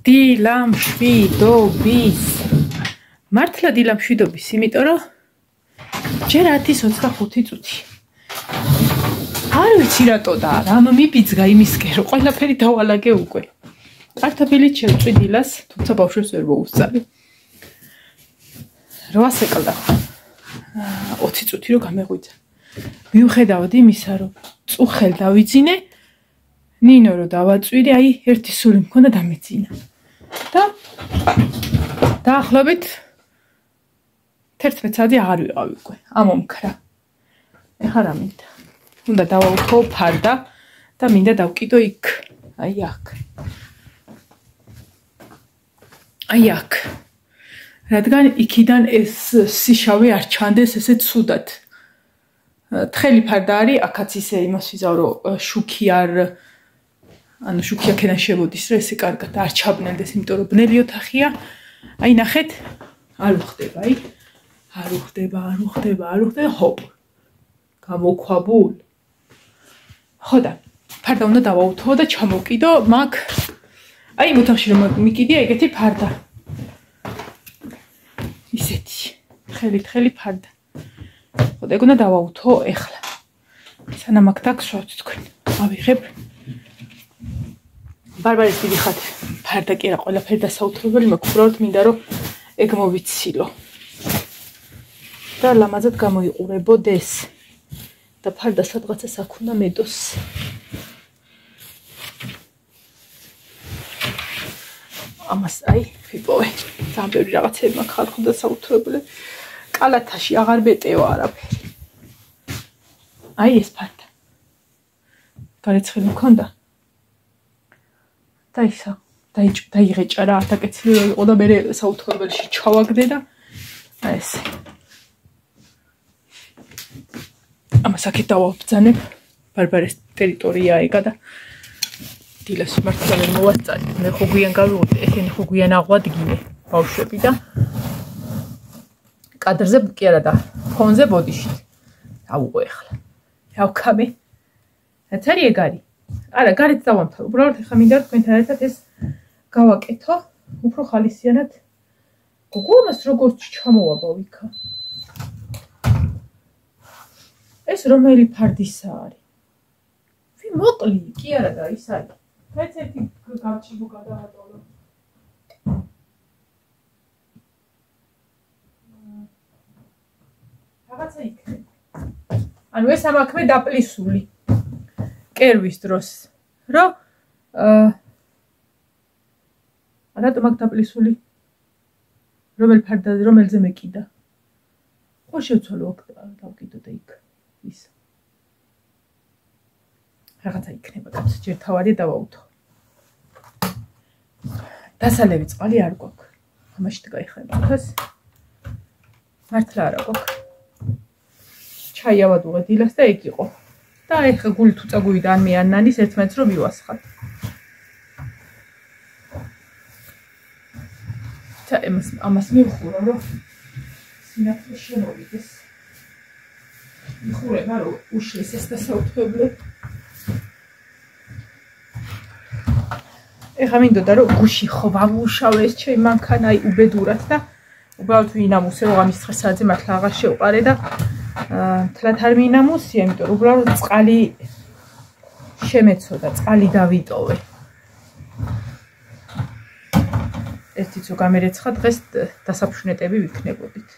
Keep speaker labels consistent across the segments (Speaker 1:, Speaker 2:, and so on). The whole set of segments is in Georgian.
Speaker 1: დილამშვიდობის. მართლა დილამშვიდობის, იმიტომ რომ ჯერ 10:25 წუთი. არ ვიცი რატო და რამ მიბიძგა იმისკენ, რომ ყველაფერი დავალაგე უკვე. კარტოფილით შევწვი დილას, თუმცა ბავშვებს ვერ მოუსწარი. 8 ეკლდა. 20 წუთი რომ გამეღვიძა. მიუხედავად იმისა, რომ წუხელ დავიძინე, ნინო რომ დავაწვირი, აი ერთი სული მქონდა დამეძინა. და დაახლოებით 11 საათი აღარ ვიყავი უკვე, ამომქრა. ეხლა რა მინდა? უნდა დავაუთო ფარდა და მინდა დავკიდო იქ, აი აქ. აი აქ. რადგან იქიდან ეს სიშავი არ ჩანდეს ესე ცუდად. თხელი ფარდა არის, აქაც ისე იმას ვიზავ, რომ შუქი არ ანუ შუქი აქედან შევოდის, რომ ესე კარგად არ ჩაბნელდეს, იმიტომ რომ ბნელი ოთახია. აი ნახეთ, არ უხდება, აი. არ უხდება, ჰოპ. გამოქვაბულ. ხო და ფარდა უნდა დავაუთო და ჩამოვკიდო, მაგ აი იმ ოთახში რომ მიკიდია ეგეთი ფარდა. ისეთი, თხელი ფარდა. ხო და ეგ უნდა დავაუთო ეხლა. სანამ აქ დაგსვავთ თქვენ. ავიღებ. ბარბარის დიდი ხათი. ფარდა კი რა, ყველაფერი დასაუთრებელი, მაგრამ უბრალოდ მინდა რომ ეგ მოვიცილო. და ლამაზად გამოიყურებოდეს. და ფარდა სადღაცას აქ უნდა მედოს. ამას აი ვიპოვე. ძალიან ბევრი რაღაცები მაქვს ხალხო დასაუთრებელი. კალათაში აღარ მეტევა არაფერი. აი ეს ფარდა. გარეცხილი მქონდა. და ისა დაიღეჭა რა, დაკეცილი რო იყო და მე საუთრებელში ჩავაგდე და აი ეს. ამას აქეთ დავაბრძანებ. ბარბარის ტერიტორია ეგა და დილას მართლა ვერ მოვასწარი. მე ხო გვიან გავიღოთ, ესენი ხო გვიან აღვადგინე ბავშვები და კადრზე კი არა და ფონზე ბოდიშით. დავუყო ეხლა. დავქამე. რაც არის ეგ არის. არა, გარეთ დავამთავრე. უბრალოდ ეხლა მინდა თქვენთან ერთად ეს გავაკეთო, უფრო ხალისიანად. გოგო ამას როგორც ჩამოვაბავ იქა. ეს რომელი ფარდისა არის? ვი მოკლი, კი არა და ის არის. მეც ერთი გავჭიბო გადავატოვო. რაღაცა იქნება. ანუ ეს ამაქვე დაპლისული. კერვის დროს. რომ რატომ აქ დაპლისული? რომელზე მეკიდა? ხო შევცვალო აქ დავკიდო და იქ. ის. რაღაცა იქნება, კაცო, ჯერ თავარი დავაუთო. დასალევი წყალი არ გვაქვს. ამაში გაიხება ხას. მართლა არა გვაქვს. ჩაი ავადუღე დილას და ეგ იყო. და ეხლა გული თუ წაგვივიდა ან მე ან ნანის ერთმანეთს რომ მივასხათ. და ამას მივხურო რომ სინათლე შემოვიდეს. მიხურება რომ უშლის ეს დასაუთრებლად. ეხლა მინდოდა რომ გუში ხო ვამუშავე ეს ჩემი მანქანა აი უბედურად და უბრალოდ ვინამუსე რომ ამის დღესაძე მართლა აღარ შევყარე და თლათ არ მინამუსია, იმიტომ რომ უბრალოდ წყალი შემეცოდა, წყალი დავიტოვე. ერთიც რო გამერეცხა დღეს დასაფრშნეტები ვიქნებოდით.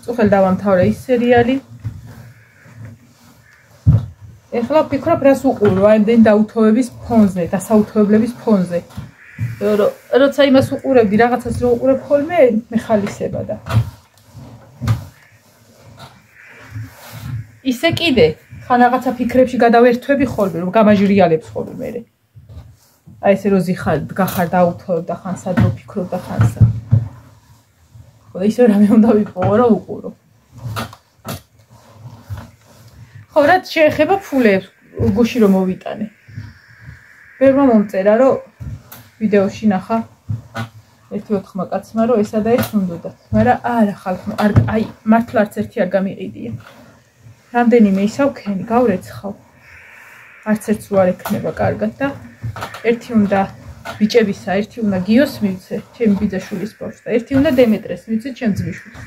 Speaker 1: წუხელ დავამთავრე ის სერიალი. ეხლა ვფიქრობ რას უყურო, აი იმდენი დაუთოვების ფონზე, დასაუთოებლების ფონზე. როცა იმას უყურებდი, რაღაცას რო უყურებ ხოლმე, მეხალისება და. ისე კიდე, ხან რაღაცა ფიქრებში გადავერთვები ხოლმე, რომ გამაჟრიალებს ხოლმე მე. აი ესე რო გახარ დაუთოვებ და ხან სად რო ფიქრობ და ხან სად. ხო და ისე რამე უნდა ვიყო რა უყურო. ხო რაც შეეხება ფულებს, გუში რომ მოვიტანე. ბევრმა მომწერა რომ ვიდეოში ნახა ერთი ოთხმა კაცმა რომ ესა და ეს უნდოდათ. მაგრამ არა ხალხო, აი მართლა არც ერთი არ გამიყიდია. რამდენიმე ისავ ქენი გავრეცხავ. არც ერთს რო არ ექნება კარგად და ერთი უნდა ბიჭებისა, ერთი უნდა გიოს მივცე, ჩემი ბიძაშვილის ბავშვს და ერთი უნდა დემეტრეს მივცე, ჩემ ძმისშვილს.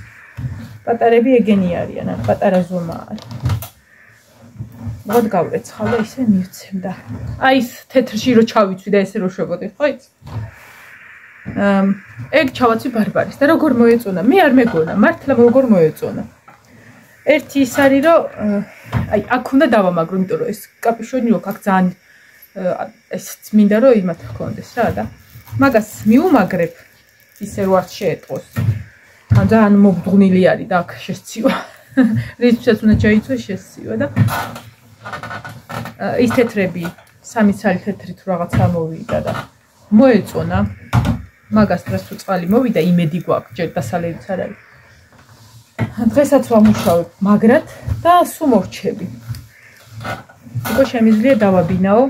Speaker 1: პატარები ეგენი არიან, ან პატარა ზომა არის. მოდ გავრეცხავ და ისე მივცემ და აი ეს თეთრში რო ჩავიცვი და ესე რო შვებოდი, ხო იცი? ეგ ჩავაცვი ბარბარის და როგორ მოეწონა? მე არ მეგონა, მართლა როგორ მოეწონა. ერთი ის არის რომ აი აქ უნდა დავამაგრო, იმიტომ რომ ეს კაპიშონი რო აქ ძალიან ეს მინდა რომ იმათ ჰქონდეს რა და მაგას მიუმაგრებ ისე რო არ შეეტყოს. ან ძალიან მობდღვნილი არის და აქ შესცივა. რითსაც უნდა ჩაიცვეს შესცივა და ის თეთრები, სამი ცალი თეთრით რაღაცა მოვიდა და მოეწონა. მაგას დღეს თუ წყალი მოვიდა, იმედი გვაქვს, ჯერ დასალებიც არ არის. დღესაც ვამუშავებ მაგრად და სულ მორჩები. უკვე შემიძლია დავაბინაო,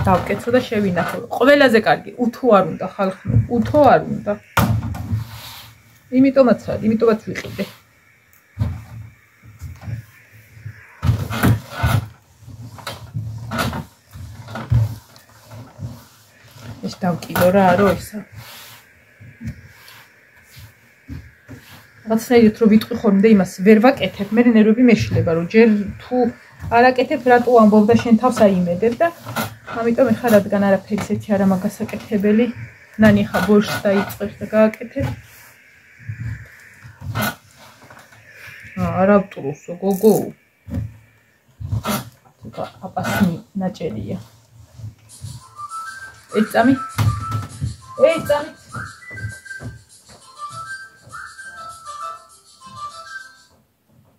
Speaker 1: დავკეცო და შევინახო. ყველაზე კარგი, უთო არ უნდა ხალხო, უთო არ უნდა. იმიტომაც ვიყიდე. ეს დავკიდო რა არო ისა. რაღაცნაირად რო ვიტყვი ხოლმე იმას ვერ ვაკეთებ, მე ნერვები მეშლება, რომ ჯერ თუ არ აკეთებ, რატო ამბობ და შენ თავს აიმედებ და ამიტომ ეხლა რადგან არაფერი ისეთი არა მაგას აკეთებელი, ნანი ხა ბორშს დაიწყებს და გააკეთებ. არა ვტუროსო გოგო. თუკა აპასნი ნაჭერია. ეწამი.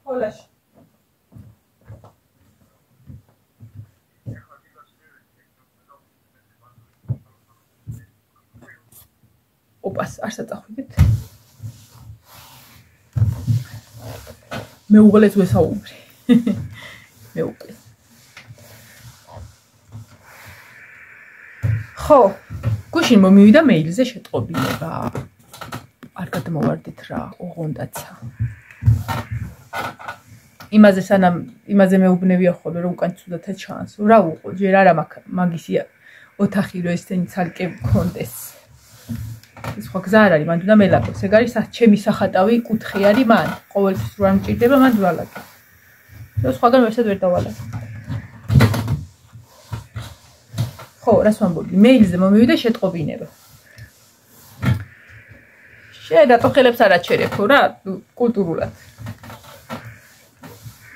Speaker 1: Holas. Opas, arsa წახვიდეთ. მე უღლეს ვესაუბრი. მე უკვე. ხო, გუშინ მომივიდა მეილზე შეტყობინება. არ გადმოვარდით რა, ოღონდაცა. იმაზე მეუბნევია ხოლმე რომ უკან ცუდათა ჩანს. რა უყო, ჯერ არა მაგისი ოთახი რომ ესენი ცალკე მქონდეს. ეს ხო გზა არ არის, მან უნდა მელაკოს. ეგ არის ჩემი სახატავი კუთხე არის მან. ყოველთვის რო არ მჭირდება, მან ვალაკე. და სხვაგან ვერსად ვერ დავალაკე. ხო, რას ვამბობდი? მეილზე მომივიდა შეტყობინება. რატო ხელებს არ აჩერებო რა, კულტურულად.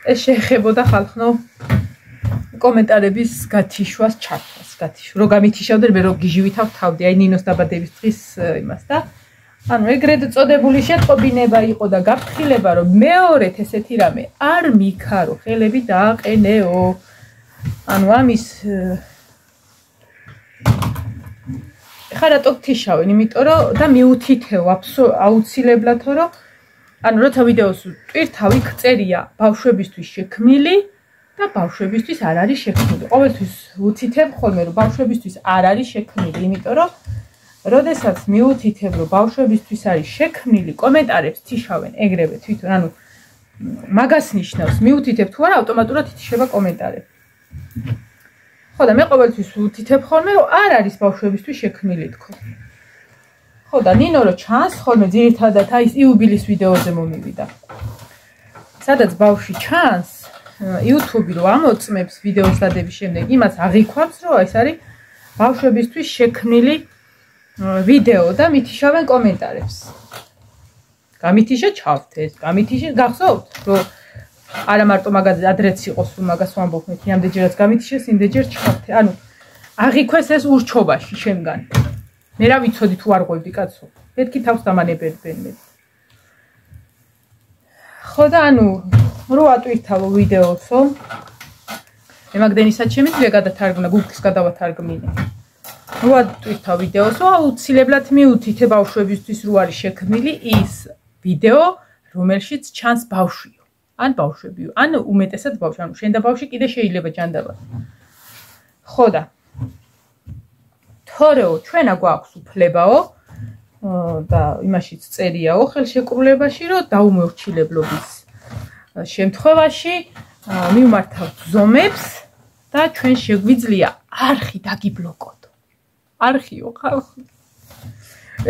Speaker 1: ეს შეეხებოდა ხალხო კომენტარების გათიშვას, ჩართვას, რო გამითიშავდნენ, მე რო გიჟივითავ თავდი, აი ნინოს დაბადების დღის იმას და ანუ ეგრეთ წოდებული შეტყობინება იყო და გაფრთხილება, რომ მეორედ ესეთი რამე არ მიქარო, ხელები დააყენეო. ანუ ამის ხა რატო გთიშავენ, იმიტომ რომ და მიუთითეო აუცილებლად, რომ ანუ როცა ვიდეოს ტვირთავ, იქ წერია ბავშვებისთვის შექმნილი და ბავშვებისთვის არ არის შექმნილი. ყოველთვის ვუთითებ ხოლმე, რომ ბავშვებისთვის არ არის შექმნილი, იმიტომ რომ როდესაც მიუთითებ, რომ ბავშვებისთვის არის შექმნილი, კომენტარებს თიშავენ ეგრევე თვითონ, ანუ მაგას ნიშნავს, მიუთითებ თუ არა, ავტომატურად ითიშება კომენტარები. ხო და მე ყოველთვის ვუთითებ ხოლმე, რომ არ არის ბავშვებისთვის შექმნილი თქო. ხო და ნინო რო ჩანს ხოლმე ძირითადად აი ეს იუბილის ვიდეოზე მომივიდა. სადაც ბავშვი ჩანს, YouTube-ი რო ამოწმებს ვიდეოს დადების შემდეგ, იმას აღიქვამს, რომ ეს არის ბავშვებისთვის შექმნილი ვიდეო და მითიშავენ კომენტარებს. გამითიშა ჩავთეს, გამითიშა გახსოვთ, რომ არა მარტო მაგაზე ადრეც იყოს, რომ მაგას ვამბობ მე, იმდენჯერაც გამითიშეს, იმდენჯერ ჩავთე. ანუ აღიქვეს ეს ურჩობაში შემგან. მე რა ვიცოდი თუ არ ყვევდი კაცო. მეთქი თავს დამანებებენ მე. ხო და ანუ რო ატვირთავო ვიდეოსო. მე მაგდენისაც შემიძლია გადათარგმნა, Google-ის გადავათარგმნინე. რო ატვირთავ ვიდეოსო, აუცილებლად მიუთითე ბავშვებისთვის რო არის შექმნილი ის ვიდეო, რომელშიც ჩანს ბავშვიო. ან ბავშვებიო, ან უმეტესად ბავშვი, ანუ შენ და ბავშვი კიდე შეიძლება ჯანდაბა. ხო და თორეო, ჩვენა გვაქვს უფლებაო და იმაშიც წერიაო ხელშეკრულებაში, რომ დაუმორჩილებლობის შემთხვევაში მივმართავთ ზომებს და ჩვენ შეგვიძლია არხი დაგიბლოკოთ. არხიო ხალხი.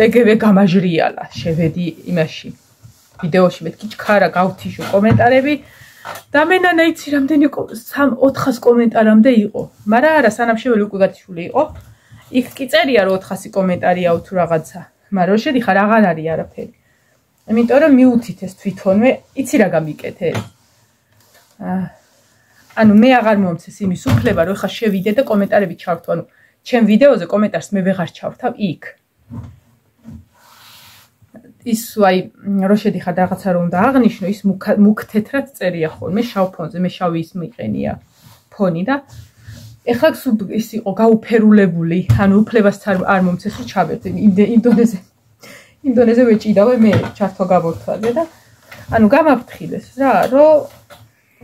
Speaker 1: ეგევე გამაჟრიალა, შევედი იმაში. ვიდეოში მეთქი ჩქარა გავთიშო კომენტარები და მე ნანა იცი რამდენი 400 კომენტარამდე იყო. მაგრამ არა, სანამ შეველი უკვე გათიშული იყო. იქ კი წერია რომ 400 კომენტარიაო თუ რაღაცა. მაგრამ შედიხარ აღარ არის არაფერი. იმიტომ რომ მიუთით ეს თვითონვე, იცი რა გამიკეთე. ანუ მე აღარ მომცეს იმის უფლება რომ ხა შევიდე და კომენტარები ჩავრთო. ანუ ჩემ ვიდეოზე კომენტარს მე ვეღარ ჩავრთავ იქ. ის აი რო შედიხარ რაღაცა რომ უნდა აღნიშნო, ის მუქ თეთრად წერია ხოლმე შავ ფონზე, მე შავი ის მიყენია ფონი და ეხლა ის იყო გაუფერულებული, ანუ უფლებაც არ მომცეს რომ ჩავერთე ინდონეზე ვეჭიდავე მე ჩართვა გაბორთვალე და ანუ გამაფრთხილეს რა, რომ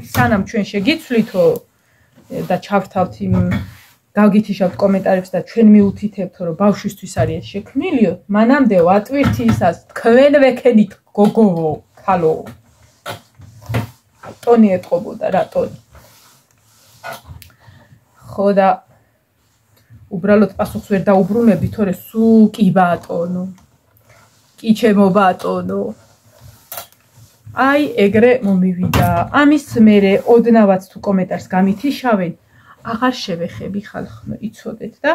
Speaker 1: სანამ ჩვენ შეგიცვლითო და ჩავრთავთ იმ გავგითიშავთ კომენტარებს და ჩვენ მიუთითებთ რომ ბავშვისთვის არის შექმნილიო, მანამდე ვატვირთი ისას თქვენ ვექენით გოგოვო, ხალო. ტონი ეთყობოდა რა ტონი. ხო და უბრალოდ პასუხს ვერ დაუბრუნებდი, თორე სულ კი ბატონო. კი ჩემო ბატონო. აი ეგრე მომივიდა. ამის მერე ოდნავად თუ კომენტარს გამითიშავენ, აღარ შევეხები ხალხო, იცოდეთ და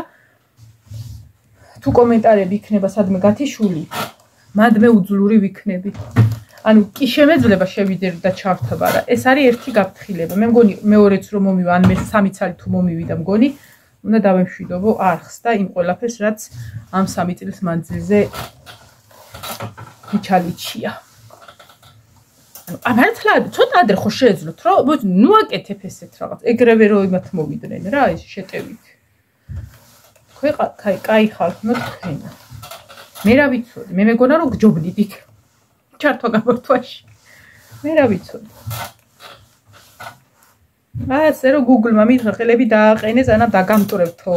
Speaker 1: თუ კომენტარები იქნება სადმე გათიშული, მადმე უძლური ვიქნები. ანუ კი შემეძლება შევიდე და ჩავრთვა რა. ეს არის ერთი გაფრთხილება. მე მგონი მეორეც რომ მომივა, ან მე 3 წელი თუ მომივიდა მგონი, უნდა დავემშვიდობო არხს და იმ ყველაფერს, რაც ამ 3 წლის მანძილზე მიჩალიჩია. ანუ მართლა ცოტა ადრე ხო შეეძლოთ, რომ ნუ აკეთებ ესეთ რაღაც. ეგრევე რომ იმათ მოვიდნენ რა, ეს შეტევით. კაი ხალხო თქვენ. მე რა ვიცოდი, მე მეგონა რომ გჯობნით იქ. ჩართვა გაბორთვაში. მე რა ვიცოდი. ასე რომ Google-მა მითხრა ხელები დააყენე, ზანამ დაგამტვრევთო.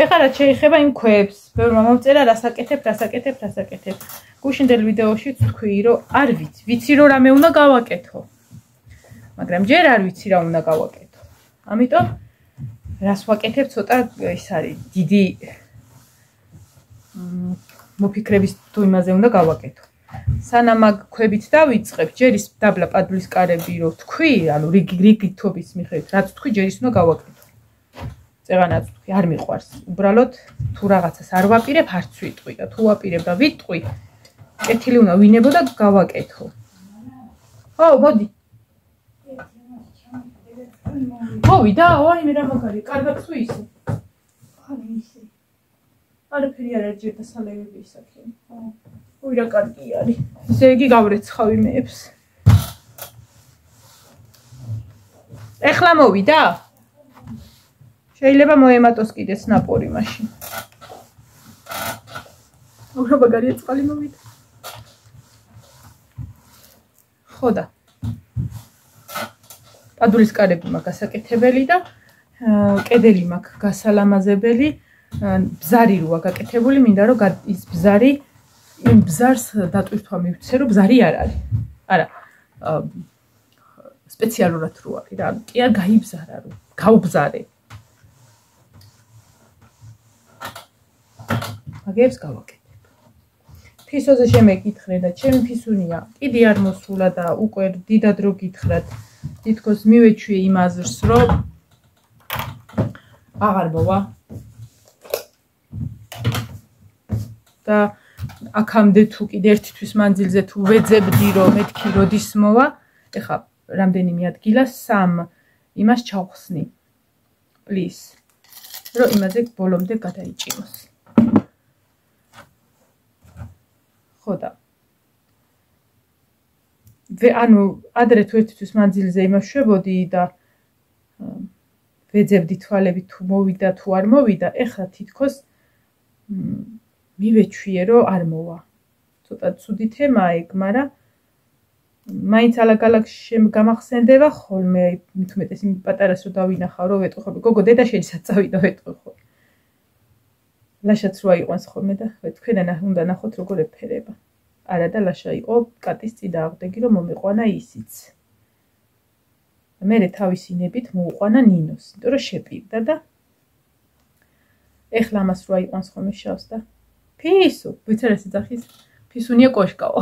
Speaker 1: ეხლა რა შეიძლება იმ ქვებს, ბევრმა მომწერა რასაკეთებ. გუშინდელ ვიდეოში თქვი რომ არ ვიცი რომ რამე უნდა გავაკეთო. მაგრამ ჯერ არ ვიცი რა უნდა გავაკეთო. ამიტომ რას ვაკეთებ ცოტა ის არის დიდი მოფიქრების თუ იმაზე უნდა გავაკეთო. სანამ მაგ ქვებით დავიწყებ, ჯერ ის დაბლა პადულის კარები რო თქვი, ანუ რიგითობის მიხედვით, რაც თქვი, ჯერ ის უნდა გავაკეთო. წეღანაც თქვი, არ მიყვარს. უბრალოდ თუ რაღაცას არ ვაპირებ, არც ვიტყვი და თუ ვაპირებ და ვიტყვი, კეთილი უნდა ვინებო და გავაკეთო. ხო, მოდი. მოვიდა, ორი მე რა მაგარი, კარგად თუ ისე. ხარ ისე. არაფერი არ არის და სალევები ისაქენ. ოი რა კარგი არის. ესე იგი გავრეცხავ იმეებს. ეხლა მოვიდა? შეიძლება მოემატოს კიდეც ნაპორი მაშინ. ოღონდ მაგარია წყალი მოვიდა. ხო და პადულის კარები მაქვს გასაკეთებელი და კედელი მაქვს გასალამაზებელი. ბზარი როა გაკეთებული, მინდა რომ ის ბზარი იმ ბზარს დატვირთვა მივცე, რომ ბზარი არ არის. არა. სპეციალურად რო არის რა. კი არ გაიბზარა რომ გავბზარე. მაგებს გავაკეთებ. ფისოზე შემეკითხრე და ჩემი ფისუნია კიდე არ მოსულა და უკვე დიდად რო გითხრათ, თითქოს მივეჩვიე იმ აზრს, რომ აღარ მოვა. და აქამდე თუ კიდე ერთი თვის მანძილზე თუ ვეძებდი რომ მეთქი როდის მოვა, ეხა რამდენიმე ადგილა 3 იმას ჩავხსნი. პლის. რომ იმაზე ბოლომდე გადაიჭიმოს. ხო და ანუ ადრე თუ ერთი თვის მანძილზე იმაშვებოდი და ვეძებდი თვალები თუ მოვიდა თუ არ მოვიდა, ეხლა თითქოს მივეჩვიე რომ არ მოვა. ცოტა ცუდი თემაა ეგ, მაგრამ მაინც ალაგ-ალაგ გამახსენდება ხოლმე, მით უმეტეს იმ პატარას რო დავინახავ, რომ ვეტყვი ხოლმე, გოგო დედაშენისაც წავიდა ვეტყვი ხოლმე. ლაშაც რო აიყვანს ხოლმე და თქვენა უნდა ნახოთ როგორ ეფერება. არა და ლაშა იყო კატის წიდა აღდეგი რომ მომეყვანა ისიც. მე თავისინებით მოუყვანა ნინოს, იმიტომ რომ შეპირდა და ეხლა ამას რო აიყვანს ხოლმე შავს და ფისუ, ვიცარ ეს ძახის ფისუნია კოშკაო.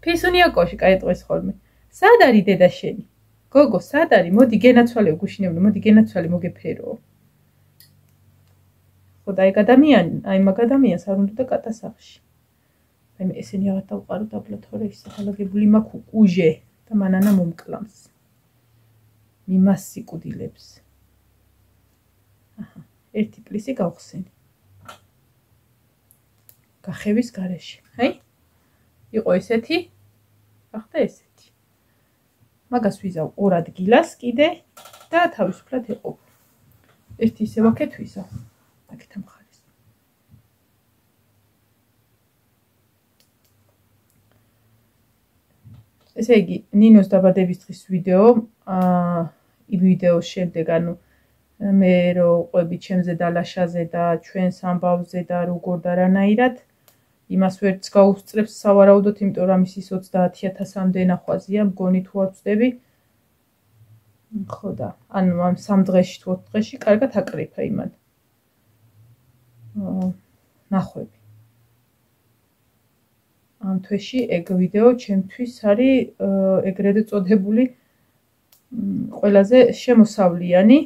Speaker 1: ფისუნია კოშკა ეტყვის ხოლმე. სად არის დედა შენი? გოგო, სად არის? მოდი გენაცვალე გუშინებო, მოდი გენაცვალე მოგეფეროო. ხო და აი მაგ ადამიანს არ უნდა კატა სახში. აი ესენი აღარ დავყარო დაბლა თორე ის ახალაგებული მაქვს უკუჟე და მანანა მომკლამს. მიმას სიკვდილებს. აჰა, ერთი პლისი გავხსენი. გახევის გარეშე. აი? იყო ესეთი? ახლა ესეთი. მაგას ვიზავ ორ ადგილას კიდე და თავისუფლად ეყო. ერთი ისე ვაკეთ ვიზავ. აქეთ ამხარეს. ესე იგი, ნინოს დაბადების დღის ვიდეო, ვიდეოს შემდეგ, ანუ მე რო ყვები ჩემზე და ლაშაზე და ჩვენს ამბავზე და როგორ და რანაირად, იმას ვერც გაუსწრებს სავარაუდოდ, იმიტომ რომ ისის 30,000-მდე ნახვაზია, მგონი თუ არ ვწდები. ხო და, ანუ ამ 3 დღეში თუ 4 დღეში კარგად აკრიფა იმან. ნახვები. ამ თვეში ეგ ვიდეო ჩემთვის არის ეგრედე წოდებული ყველაზე შემოსავლიანი.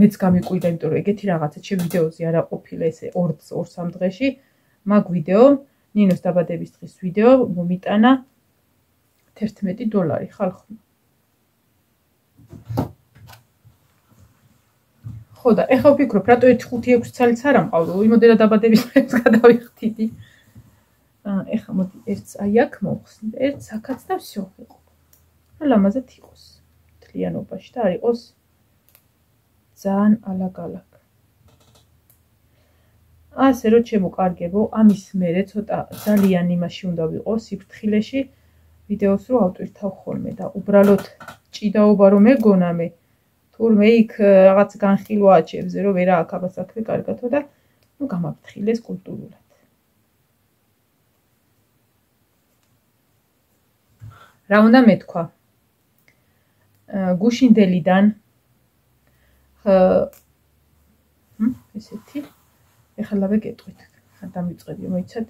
Speaker 1: მეც გამიკვირდა, იმიტომ რომ ეგეთი რაღაცა ჩემ ვიდეოზე არ აყოფილა ესე 2-3 დღეში. მაგ ვიდეო, ნინოს დაბადების დღის ვიდეო მომიტანა $11 ხალხმა. ხო და ეხლა ვფიქრობ, რატო 1-5-6 ცალიც არ ამყავრო, იმოდენა დაბადების დღეს გადავიხდიდი. ეხლა მოდი ერთს აი აქ მოვხსნით, ერთს აქაც და всё იყო. რა ლამაზად იყოს მთლიანობაში და არ იყოს ძალიან ალაგ-ალაგ. ასე რომ შემოკარგებო, ამის მერე ცოტა ძალიან იმაში უნდა ვიყო სიფრთხილეში ვიდეოს რო ავტვირთავ ხოლმე და უბრალოდ ჭიდაობა რომ ეგონა მე თურმე იქ რაღაც განხილვა აჩებზე რომ ვერა აქ აბა საქმე კარგათო და ნუ გამაფრთხილეს კულტურულად. რა უნდა მეთქვა? გუშინდელიდან ესეთი ეხლა ვეკეთვით. არ დამიწყებიო, მოიცად?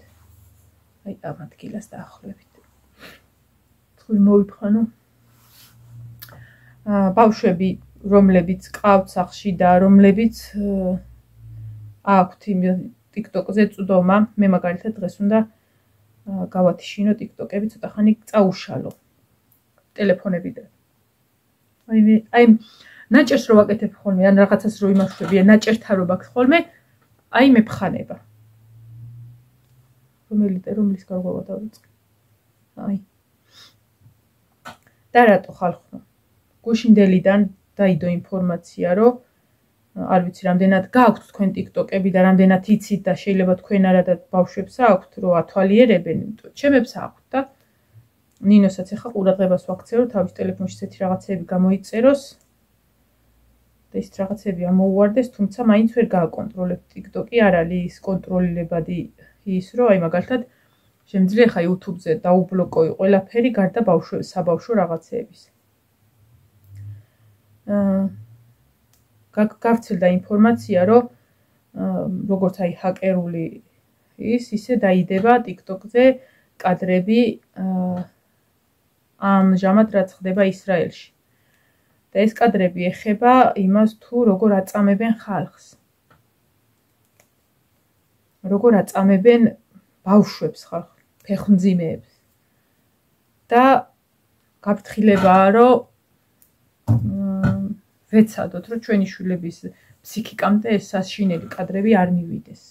Speaker 1: აი ამ ადგილას დაახლოებით. თქვი მოვიფხანო. ბავშვები, რომლებიც ყავთ სახლში და რომლებიც აქვთ TikTok-ზე წვდომა, მე მაგალითად დღეს უნდა გავათიშინო TikTok-ები, ცოტა ხანი წაუშალო ტელეფონებიდან. აი ნაჭერს რო ვაკეთებ ხოლმე, ან რაღაცას რო იმაშვები, ან ნაჭერთან რო ვაკეთებ ხოლმე, აი მეფხანება. რომლის გარღვევა დავიწყე. აი. და რატო ხალხო? გუშინდელიდან დაიდო ინფორმაცია, რომ არ ვიცი, რამდენად გააქვთ თქვენ TikTok-ები და რამდენად იცით და შეიძლება თქვენ არა და ბავშვებს აქვთ, რომ ათვალიერებენ, ჩემებს აქვთ და ნინოსაც ახლა ყურადღებას ვაქცევ, რომ თავის ტელეფონში ესეთი რაღაცები გამოიწეროს და ის რაღაცები ამოუვარდეს, თუმცა მაინც ვერ გააკონტროლებ TikTok-ი, არ არის ის კონტროლილებადი ის, რომ აი მაგალითად შემიძლია ხა YouTube-ზე დაუბლოკოი ყველაფერი გარდა საბავშვო რაღაცეების. გავრცელდა ინფორმაცია, რომ როგორც აი ჰაკერული ისე დაიდება TikTok-ზე კადრები ამჟამად რაც ხდება ისრაელში. და ეს კადრები ეხება იმას თუ როგორ აწამებენ ხალხს. როგორ აწამებენ ბავშვებს ხალხს, ფეხმძიმეებს. და გაფრთხილებაა, რომ ვეცადოთ, რომ ჩვენი შვილების ფსიქიკამდე ეს საშინელი კადრები არ მივიდეს.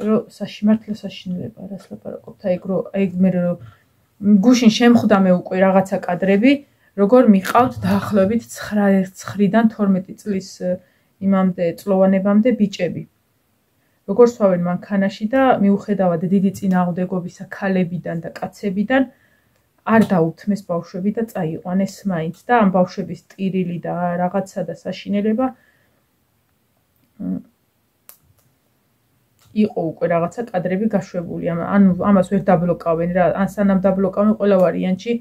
Speaker 1: რომ მართლა საშინელებაა, რას ლაპარაკობთ, აი მე რომ გუშინ შემხვდა მე უკვე რაღაცა კადრები, როგორ მიყავთ დაახლოებით 9-დან 12 წლის იმამდე წლოვანებამდე ბიჭები. როგორ სვავენ მანქანაში და მიუხედავად დიდი წინააღმდეგობისა ქალებიდან და კაცებიდან არ დაუთმეს ბავშვები და წაიყვანეს მაინც და ამ ბავშვების ტირილი და რაღაცა და საშინელება იყო უკვე რაღაცა კადრები გაშვებული. ანუ ამას ვერ დაბლოკავენ რა, ან სანამ დაბლოკავენ ყველა ვარიანტში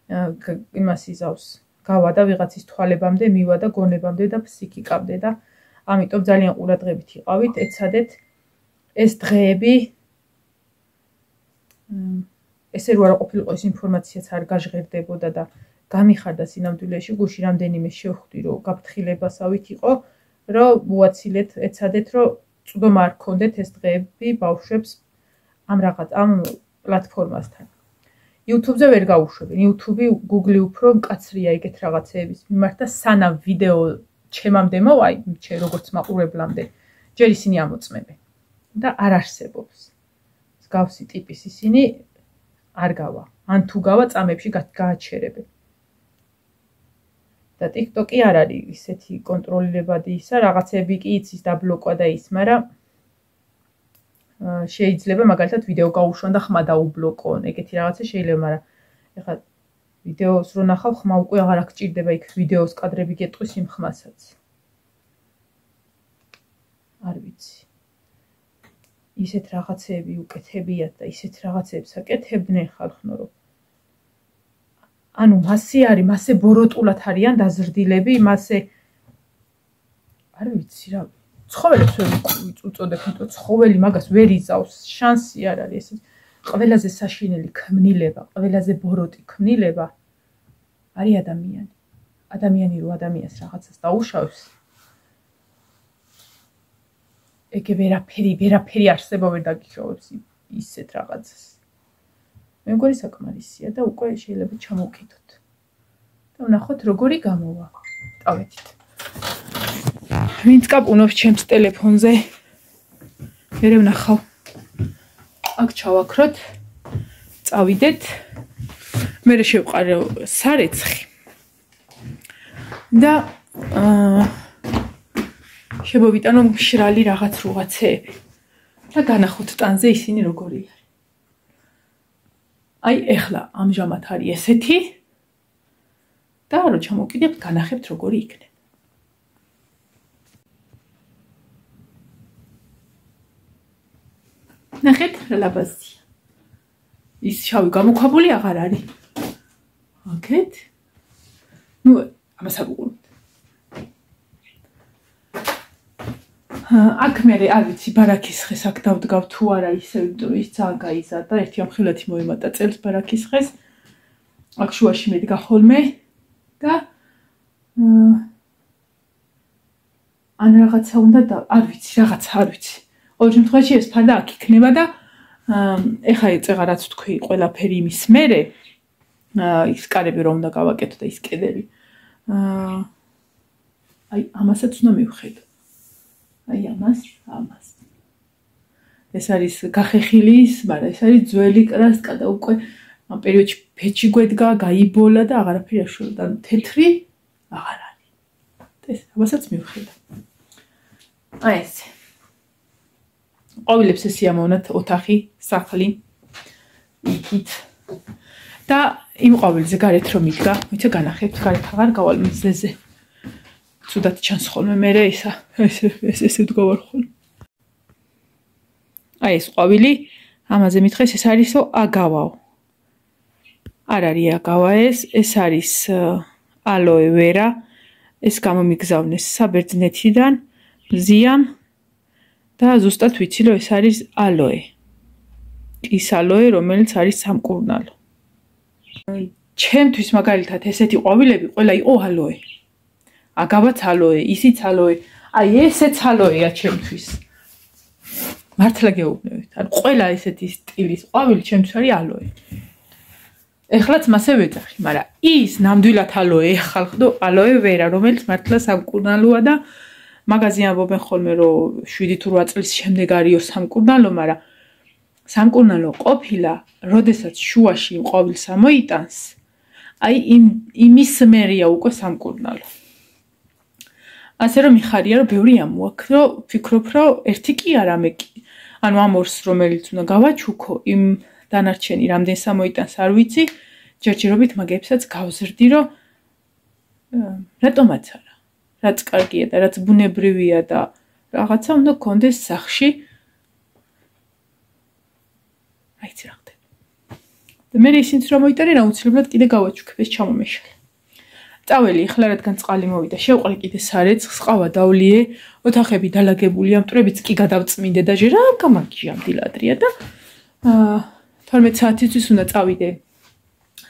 Speaker 1: იმას იზავს გავა და ვიღაცის თვალებამდე მივა და გონებამდე და ფსიქიკამდე და ამიტომ ძალიან ყურადღებით იყავით ეცადეთ ეს დღეები ესე რო არ ყოფილიყო ეს ინფორმაციაც არ გაჟღერდებოდა და გამიხარდა სინამდვილეში გუში რამდენიმე შევხვდი რომ გაფრთხილებასავით იყო რომ უაცილეთ ეცადეთ რომ წვდომა არ გქონდეთ ეს დღეები ბავშვებს ამ პლატფორმასთან YouTube-ზე ვერ გაუშვებენ. YouTube-ი Google-ი უფრო მკაცრია ეგეთ რაღაცეების მიმართ და სანამ ვიდეო ჩემამდე მოვა, ჩემ როგორც მაყურებლამდე, ჯერ ისინი ამოწმებენ და არ არსებობს. მსგავსი ტიპის ისინი არ გავა. ან თუ გავა წამებში გააჩერებენ. და TikTok-ი არ არის ისეთი კონტროლილებადი ისა, რაღაცები კი იცის დაბლოკვა და ის, მაგრამ შეიძლება მაგალითად ვიდეო გაუშვან და ხმა დაუბლოკონ, ეგეთი რაღაცა შეიძლება, მაგრამ ეხლა ვიდეოს რო ნახავ, ხმა უკვე აღარ აღჭირდება იქ ვიდეოს კადრები გეტყვის იმ ხმასაც. არ ვიცი. ისეთ რაღაცეები უკეთებიათ და ისეთ რაღაცეებს აკეთებდნენ ხალხნო, რომ ანუ მასე არის, მასე ბოროტულად არიან დაზრდილები, მასე არ ვიცი რა ცხოველებს ვერ უწოდებ, იმიტომ ცხოველი მაგას ვერ იზავს, შანსი არ არის ეს. ყველაზე საშინელი ქმნილება, ყველაზე ბოროტი ქმნილება არის ადამიანი. ადამიანი რო ადამიანს რაღაცას დაუშავს, ეგ ვერაფერი არსება ვერ დაგიხოვებს ისეთ რაღაცას. მე მგონი საკმარისია და უკვე შეიძლება ჩამოვკიდოთ. და ვნახოთ როგორი გამოვა. დავეთით. ვინც კაპუნობს ჩემს ტელეფონზე. მე ვნახავ. აქ ჩავაქროთ. წავიდეთ. მე შევყარე სარეცხი. და შემოვიტანო მშრალი რაღაცეები. და განახოთ ტანზე ისინი როგორი არის. აი ეხლა ამჟამად არის ესეთი. და რო ჩამოვკიდებთ, განახებთ როგორი იქნება. ნახეთ რა ლაბაზია. ის შავი გამოქვაბული აღარ არის. აკეთ. ნუ ამას არ უყურებთ. აქ მე არ ვიცი ბარაქის ხეს აქ დავდგავ თუ არა ისე იმიტომ რომ ის ძალიან გაიზარდა ერთი ამხილათი მოიმატა წელს ბარაქის ხეს. აქ შუაში მედგა ხოლმე და ან რაღაცა უნდა და არ ვიცი რაღაცა არ ვიცი. ყოველ შემთხვევაში ეს ფარდა აქ იქნება და ეხა ეწეღა რაც თქვი ყველაფერი იმის მერე ის კარები რომ უნდა გავაკეთო და ის კედელი აი ამასაც უნდა მივხედო. აი ამას. ეს არის გახეხილის, მაგრამ ეს არის ძველი კრასკა და უკვე ამ პერიოდში ფეჩი გვედგა, გაიბოლა და აღარაფერი არ შევიდა. თეთრი აღარ არის. ეს ამასაც მივხედო. აი ეს. ყვავილებს ესიამოვნათ ოთახი, სახლი. იქით. და იმ ყვავილზე გარეთ რომ იდგა, ვიცი განახებთ, გარეთ აღარ გავალ მზეზე. ცუდად ჩანს ხოლმე მე ისა ესე ვდგავარ ხოლმე. აი ეს ყვავილი, ამაზე მითხეს ეს არისო აგავაო. არ არის აგავა ეს არის ალოე ვერა. ეს გამომიგზავნეს საბერძნეთიდან, მზიამ და ზუსტად ვიცი რომ ეს არის ალოე. ის ალოე, რომელიც არის სამკურნალო. ჩემთვის მაგალითად ესეთი ყვავილები ყველა იყო ალოე. აგავაც ალოე, ისიც ალოე. აი ესეც ალოეა ჩემთვის. მართლა გეუბნებით. ან ყველა ესეთი სტილის ყვავილი ჩემთვის არის ალოე. ეხლაც მასე ვეძახი, მაგრამ ის ნამდვილად ალოე ხალხო, ალოე ვერა, რომელიც მართლა სამკურნალოა და მაგაზი ამბობენ ხოლმე რომ 7 თუ 8 წლის შემდეგ არისო სამკურნალო, მაგრამ სამკურნალო ყოფილა, როდესაც შუაში იმ ყვავილს ამოიტანს, აი იმის მერია უკვე სამკურნალო. ასე რომ მიხარია რომ ბევრი ამოაქვს, რომ ფიქრობ რომ ერთი კი არა მე კი. ანუ ამ ორს რომელიც უნდა გავაჩუქო, იმ დანარჩენი რამდენს ამოიტანს არ ვიცი, ჯერჯერობით მაგებსაც გავზრდი რომ რატომაც არა. რაც კარგია და რაც ბუნებრივია და რაღაცა უნდა გქონდეს სახში. აიცი რა ხდება. მე ისინიც რომ მოიტანე აუცილებლად კიდე გავაჩუქებ ეს ჩამომეშალე. წაველი ახლა რადგან წყალი მოვიდა, შევყრე კიდე სარეცხს, ყავა დავლიე, ოთახები დალაგებულია, მტრებიც კი გადავწმინდე და ჯერ რა გამარჯვია დილადრია და 12 საათისთვის უნდა წავიდე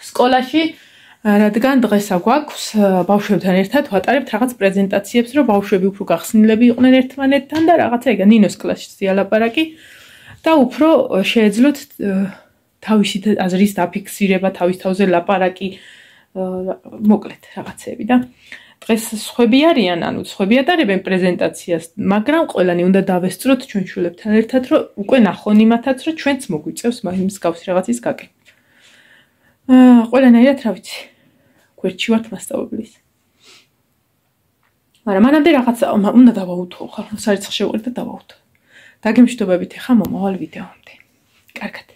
Speaker 1: სკოლაში, რადგან დღეს აგვაქვს ბავშვებთან ერთად ვატარებთ რაღაც პრეზენტაციებს, რომ ბავშვები უფრო გახსნილები იყვნენ ერთმანეთთან და რაღაცა ეგა ნინოს კლასში ალაპარაკი და უფრო შეეძლოთ თავისი აზრის დაფიქსირება, თავის თავზე ლაპარაკი, მოკლედ რაღაცები და დღეს სხვები არიან, ანუ სხვები ატარებენ პრეზენტაციას, მაგრამ ყველანი უნდა დავესწროთ ჩვენ შვილებთან ერთად, რომ უკვე ნახონ იმათაც, რომ ჩვენც მოგვიწევს მსგავსი რაღაცის გაკეთება. ყველანაირად რა ვიცი, გვერდში ვართ მასწავლებლის. მაგრამ მანამდე რაღაცა უნდა დავაუთო, ხალხო სარეცხს შევყრით და დავაუთო. დაგემშვიდობებით ახლა მომავალ ვიდეომდე. კარგად.